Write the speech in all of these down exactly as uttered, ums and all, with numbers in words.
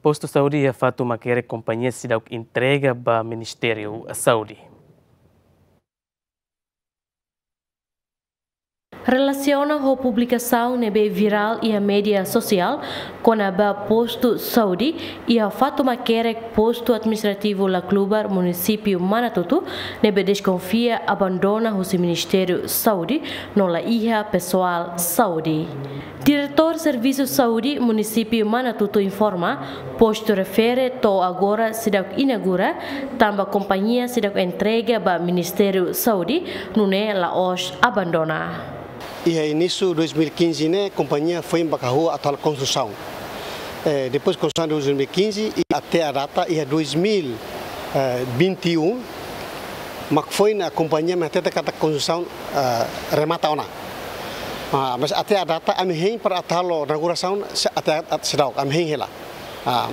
Postu saúde iha Fatumakerek kompañia seidauk entrega ba Ministériu Saúde. Relasiona ho publikasaun ne'ebé virál iha média sosiál kona-ba postu saúde iha Fatumakerek, postu administrativu Laclubar, munisípiu Manatuto, ne'ebé deskonfia abandona husi Ministériu Saúde no la iha pesoál saúde. Diretór Servisu Saúde munisípiu Manatuto informa, postu refere to'o agora seidauk inaugura, tanba kompañia seidauk entrega ba Ministériu Saúde, nune'e la'ós abandona. Iha inísiu dois mil e quinze ne'e, kompañia foin ba kahur atu halo konstrusaun. Eh, depois konstrusaun dois mil e quinze i até à data iha dois mil e vinte e um, mak foin kompañia mak hatete katak konstrusaun, eh, remata ona. Ah, mas até à data ami hein para atu halo inaugurasaun se-, até, até seidauk, ami hein hela. Ah,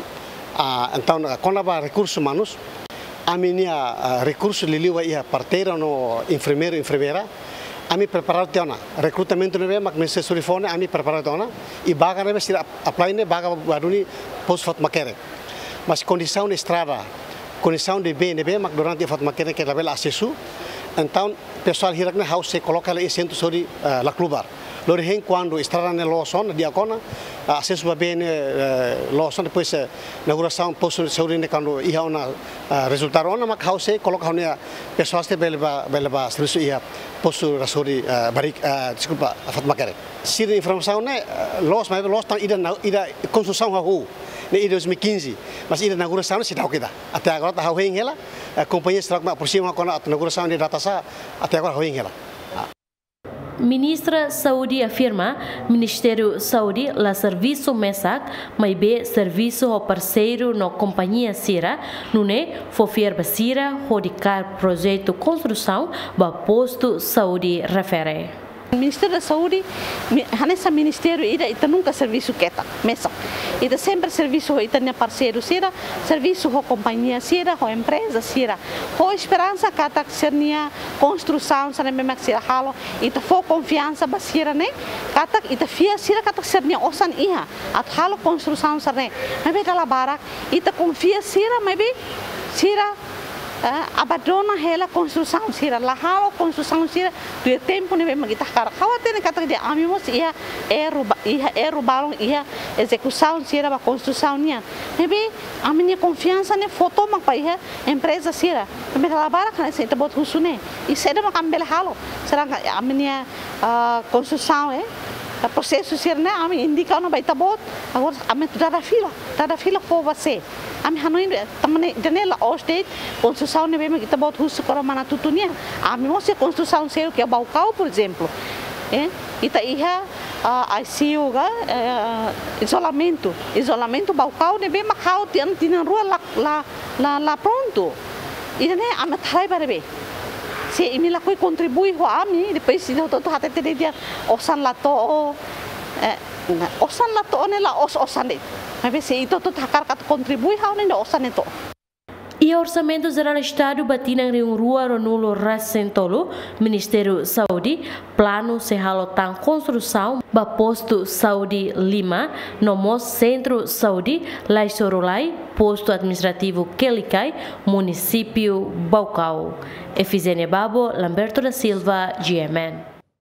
ah, entaun, ah, kona-ba rekursus umanus, ami-nia, ah, rekursu liuliu ba iha parteira no enfermeiru, enfermeira, ami preparadu tiha ona. Rekrutamentu ne'ebé mak Ministériu Saúde fó ne'e, ami preparadu tiha ona. I vaga ne'ebé sira ap-, apply ne'e vaga ba duni postu Fatumakerek. Mas kondisaun estrada, kondisaun de bee ne'ebé mak durante Fatumakerek ke labele asesu. Entaun, pesoál hirak ne'e ha'u sei koloka hela iha Sentru Saúde, eh, Laclubar. Lori hein kuandu estrada ne'e loos ona, di'ak ona, ah, asesu ba bee ne'e, eh, loos ona, depois, eh, inaugurasaun postu saúde ne'e kuandu iha ona, ah, rezultadu ona, mak ha'u sei koloka ha'u-nia pesoál sira bele ba, bele ba servisu iha postu saúde, eh, Barik, eh, deskulpa, Fatumakerek. Sira-nia informasaun ne'e, eh, loos, mas loos tan ida na, ida konstrusaun hahú ne'e iha dois mil e quinze, mas ida inaugurasaun ne'e seidauk ida. Até agora ita ha'u hein hela, eh, kompañia seidauk mak aproxima kona-ba atu inaugurasaun ne'e data sá, até agora ha'u hein hela. Ah. Ministra Saúde afirma, Ministériu Saúde la servisu mesak, maibé servisu ho parseiru no kompañia sira, nune'e fó fiar ba sira hodi kaer projetu konstrusaun ba postu saúde refere. Ministériu da Saúde, mi-, hanesan ministériu ida, ita nunka servisu ketak mesak. Ita sempre servisu ho ita-nia parseiru sira, servisu ho kompañia sira, ho empreza sira. Ho esperansa katak sira-nia konstrusaun sira ne'ebé mak sira halo, ita fó konfiansa ba sira ne'e, katak ita fiar sira katak sira-nia osan iha atu halo konstrusaun sira ne'e. Maibé dala barak ita konfia sira, maibé sira, eh, abandona hela konstrusaun sira, la halo konstrusaun sira tuir tempu ne'ebé mak ita hakarak. Ha'u hatene katak dehan ami mós iha erru ba-, iha erru balun iha ezekusaun sira ba konstrusaun nian. Maibé ami-nia konfiansa ne'e fó tomak ba iha empreza sira. Maibé dala barak hanesan ita-boot husu ne'e. I saida mak ami bele halo. Será ami-nia, ah, konstrusaun, eh, prosesu sira ne'e ami indika ona ba ita-boot. Agora ami atu dada fila, dada fila fó ba sé? Ami hanoin de'it, tanba ne'e, ida-ne'e la'ós de'it konstrusaun ne'ebé mak ita-boot husu kona-ba Manatuto nian. Ami mós iha konstrusaun seluk iha Baucau, por ezemplu. Eh, ita iha, ah, I C U ka, eh, izolamentu. Izolamentu Baucau ne'ebé mak ha'u tiha ona tinan rua la, la, la, la prontu. Ida-ne'e ami atu halai ba ne'ebé? Se imi lakohi kontribui ho ami, depois ita hotu-hotu hatete de'it dehan osan la to'o, eh, osan la to'o ne'e la'ós osan de'it. Maibé se ita hotu-hotu hakarak atu kontribui, ha'u hanoin dehan osan ne'e to'o. Iha Orsamentu Jerál Estadu ba tinan rihun rua ruanulu-resin-tolu, Ministériu Saúde planu sei halo tan konstrusaun ba postu saúde Lima, no mós Sentru Saúde Laisorulai, postu administrativu Quelicai, munisípiu Baucau. Efizénia Babo, Lamberto da Silva, G M N.